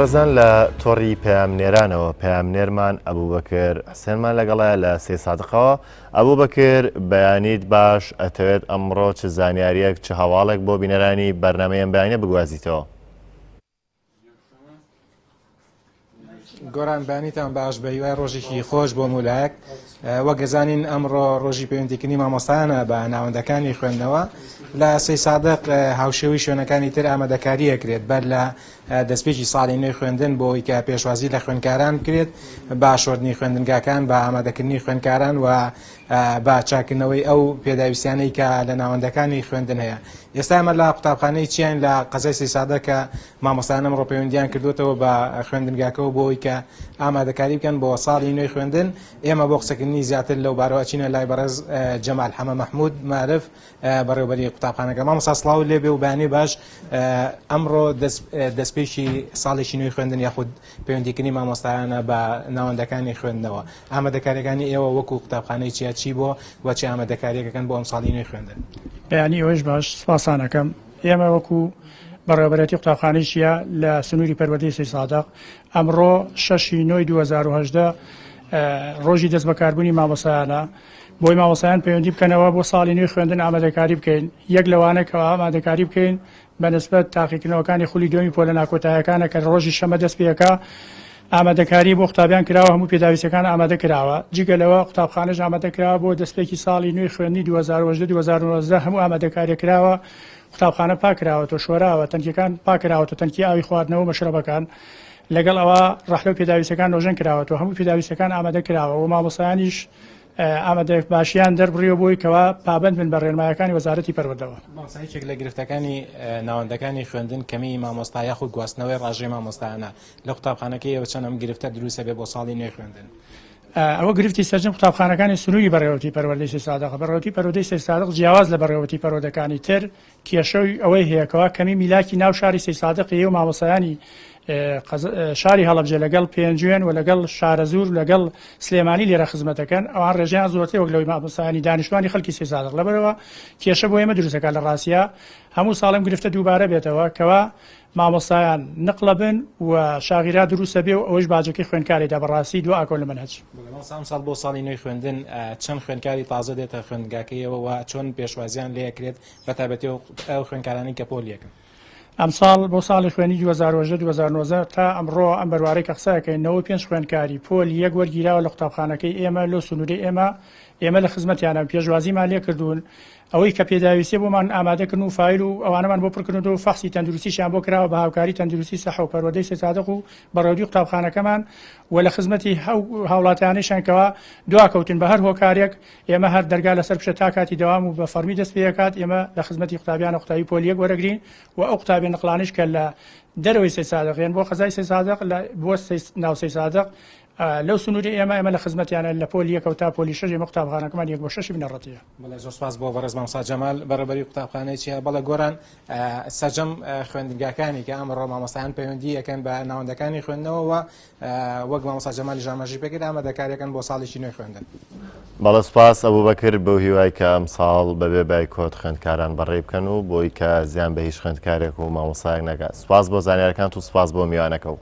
بەڕێزان لە تۆڕی پەیامنێرانەوە پەیامنێرمان ئەبوبەکر حسێنمان لەگەڵایە لە سەیدسادقەوە. ئەبوبەکر بەیانیت باش، ئەتەوێت ئەمڕۆ چ زانیاریەک چ هەواڵێک بۆ بینەرانی بەرنامەی ئەم بەیانیە بگوازیتەوە؟ گۆران بەیانیتان باش بە هیوای ڕۆژێکی خۆش بۆ مولایەک وەک گەزانین ئەمڕۆ ڕۆژی پەیوەندیکردنی مامۆستایانە بە ناوەندەکانی خوێندنەوە لە سەیدسادق هاوشێوەی شوێنەکانی تر ئامادەکاری ئەکرێت بەر لە دەستپێکی ساڵی نوێی خوێندن بۆ ئەوەی کە پێشوازی لە خوێندکاران بکرێت بە شۆردنی خوێندنگاکان بە ئامادەکردنی خوێندکاران و بە چاکردنەوەی ئەو پێداویستیانەی کە لە ناوەندەکانی خوێندن هەیە ئێستا ئەمە لە قوتابخانەی چیان لە قەزای سەیدسادق کە مامۆستایان ئەمڕۆ پەیوەندیان کردوێتەوە بە خوێندنگاکەەوە بۆ ئەوەی کە ئامادەکاری بکەن بۆ ساڵی نوێی خوێندن ئێمە بۆ قسەکردنی زیاتر لەو بارەوە ئەچینە لای بەڕێز جەمال حەمە مەحمود مارف بەڕێوبەری قوتابخانەکە. مامۆستا سڵاو لێ بێ و بەیانی باش. ئەمڕۆ دەستپێکی ساڵێکی نوێی خوێندن یاخود پەیوەندیکردنی مامۆستایانە بە ناوەندەکانی خوێندنەوە، ئامادەکاریەکانی ئێوە وەکو قوتابخانەی چیا چی بۆ و چه ئامادەکاریەکەکەن بۆ ئەم ساڵی نوێی خوێندن؟ بەیانی ئێوەش باش، سپاستان ئەکەم. ئێمە وەکو بەڕێوەبەرێتی قوتابخانەی چیا لە سنووری پەروەردەی سەیدسادق ئەمڕۆ شەش ی نۆی 2018 ڕۆژی دەستبەکاربوونی مامۆستایانە، بۆی مامۆستایان پەیوەندی بکەنەوە بۆ ساڵی نوێی خوێندن ئامادەکاری بکەین، یەک لەوانە کە ئامادەکاری بکەین بە نسبەت تاقیکردنەوەکانی خولی دووەمی پۆلە ناکۆتایەکانە کە ڕۆژی شەمە دەست پێکا، ئامادەکاری بۆ قوتابیان کراوە هەموو پێداویستیەکان ئامادە کراوە، جگە لەوە قوتابخانەش ئامادە کراوە بۆ دەستپێکی ساڵی نوێی خوێندنی 2018 2019 هەموو ئامادەکاریە کراوە، قوتابخانە پاکراوەتەوە شۆراوە، تەنکیەکان پاکراوەتەوە تەنکی ئاوی خواردنەوە و مەشرەبەکان، لەگەڵ ئەوە ڕەحلە و پێداویستیەکان نۆژەن کراوەتەوە هەموو پێداویستیەکان ئامادە کراوە و مامۆستایانیش ئامادە باشیان دەربڕیوە بۆی کەوا پابەند بن بە ڕێنمایەکانی وەزارەتی پەروەردەوە. مامۆستا یەکێک لە گرفتەکانی ناوەندەکانی خوێندن کەمیی مامۆستا یاخود گواستنەوەی ڕاژەی مامۆستایانە لە قوتابخانەکەی ئێوە چەند ئەم گرفتە دروست ئەبێ بۆ ساڵی نوێی خوێندن؟ ئەوە گرفتی سەرجەم قوتابخانەکانی سنووری بەڕێوەبەری پەروەردەی سەیدسادقە، بەڕێوەبەری پەروەردەی سەیدسادق جیاواز لە بەڕێوەبەری پەروەردەکانی تر کێشەی ئەوەی هەیە کەوا کەمی میلاکی ناو شاری سەیدسادق هەیە و مامۆستایانی شاری هەڵەبجە لەگەڵ پێنجوێن و لەگەڵ شارەزوور و لەگەڵ سلێمانی لێرە خزمەت دەکەن ئەوان ڕێژەیان زۆرترە وەک لەوەی مامۆستایانی دانیشتوانی خەڵکی سەیدسادق لەبەرئەوە کێشە بۆ ئێمە دروست دەکات لە ڕاستیا هەموو ساڵ ئەم گرفتە دووبارە بێتەوە کەوا مامۆستایان نقڵە بن و شاغیرا دروستە بێ و ئەوەیش باجەکەی خوێندکاری دا بەڕاستی دوا ئەکەون لە مەنهەج. بەڵێ مامۆستا ئەمساڵ بۆ ساڵی نوێی خوێندن چەند خوێندکاری تازە دێتە خوێندنگاکەیەوە و چۆن پێشوازیان لێ ئەکرێت بە تایبەتی ئەو خوێندکارانەی کە پۆل یەکن؟ ئەمساڵ بۆ ساڵی خوێندنی 2018 2019 تا ئەمڕۆ ئەم بەروارەی کە قسە ئەکەین 95 خوێندکاری پۆل یەک وەرگیراوە لە قوتابخانەکەی ئێمە لۆ سنوورەی ئێمە ئێمە لە خزمەتیانە پێشوازیمان لێکردوون ئەوەی کە پێداویستیە بۆمان ئامادەکردن و فایل و ئەوانەمان بۆ پڕکردنەوە و فەحسی تەندروستیشیان بۆ کراوە بە هاوکاری تەندروستی سەحە و پەروەردەی سەیدسادق و بەڕێوەبەری قوتابخانەکەمان و لە خزمەتی ئەو هاوڵاتیانەیشن کەوا دواکەوتن بە هەر هۆکارێک ئێمە هەر دەرگا لەسەر پشە تا کاتی دەوام و بە فەڕمی دەست پێکات ئێمە لە خزمەتی قوتابیانە قوتابی پۆل یەک وەرەگرین و ئەو قوتابیە نقڵانەیش کە لە دەرەوەی سەیدسادق یان بۆ قەزای سەیدسادق لە بۆ ناو سەیدسادق لەو سنووری ئێمە ئێمە لە خزمەتیانە لە پۆلی یەکەوە تا پۆلی شەش ئێمە قوتابخانەکەمان یەک بۆ شەشی بنەڕەتیە. بەڵێ زۆر سپاس بۆ بەڕێز مامۆستا جەمال بەڕێوەبەری قوتابخانەی چیا. بەڵێ گۆران سەرجەم خوێندنگاکانی کە ئەمڕۆ مامۆستایان پەیوەندی ئەکەن بە ناوەندەکانی خوێندنەوە و وەک مامۆستا جەمالیش ئاماژەی پێکرد ئامادەکاریەکەن بۆ ساڵێکی نوێی خوێندن. بەڵێ سوپاس ئەبوبەکر بەو هیوای کە ئەمساڵ بەبێ بایکۆت خوێندکاران بەڕێی بکەن و بۆی کە زیان بە هیچ خوێندکارێک و مامۆستایەک نەگات. سوپاس بۆ زانیارەکانت و سوپاس بۆ میوانەکەو.